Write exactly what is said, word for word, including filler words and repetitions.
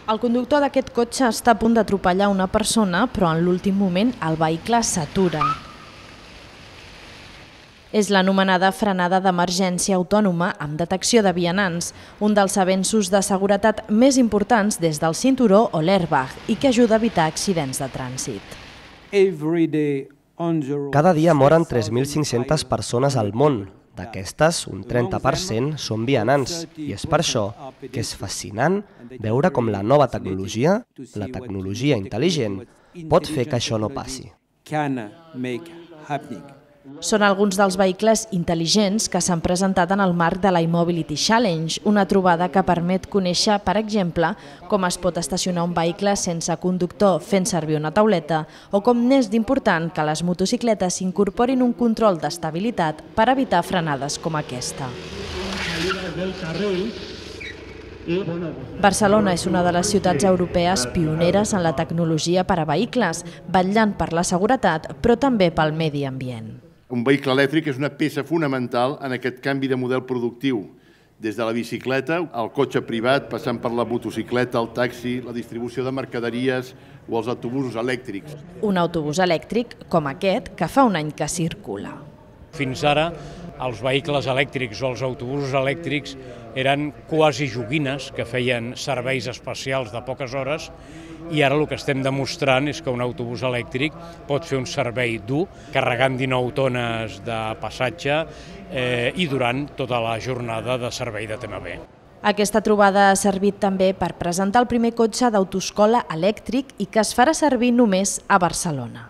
El conductor d'aquest cotxe està a punt d'atropellar una persona, però en l'últim moment el vehicle s'atura. És l'anomenada frenada d'emergència autònoma amb detecció de vianants, un dels avenços de seguretat més importants des del cinturó o l'airbag i que ajuda a evitar accidents de trànsit. Cada dia moren tres mil cinc-centes persones al món. D'aquestes, un trenta per cent són vianants, i és per això que és fascinant veure com la nova tecnologia, la tecnologia intel·ligent, pot fer que això no passi. Són alguns dels vehicles intel·ligents que s'han presentat en el marc de l'iMobility Challenge, una trobada que permet conèixer, per exemple, com es pot estacionar un vehicle sense conductor fent servir una tauleta o com n'és d'important que les motocicletes incorporin un control d'estabilitat per evitar frenades com aquesta. Barcelona és una de les ciutats europees pioneres en la tecnologia per a vehicles, vetllant per la seguretat, però també pel medi ambient. Un vehicle elèctric és una peça fonamental en aquest canvi de model productiu, des de la bicicleta al cotxe privat, passant per la motocicleta, el taxi, la distribució de mercaderies o els autobusos elèctrics. Un autobús elèctric com aquest, que fa un any que circula. Fins ara, els vehicles elèctrics o els autobusos elèctrics eren quasi joguines que feien serveis especials de poques hores i ara el que estem demostrant és que un autobús elèctric pot fer un servei dur, carregant dinou tones de passatge eh, i durant tota la jornada de servei de T M B. Aquesta trobada ha servit també per presentar el primer cotxe d'autoescola elèctric i que es farà servir només a Barcelona.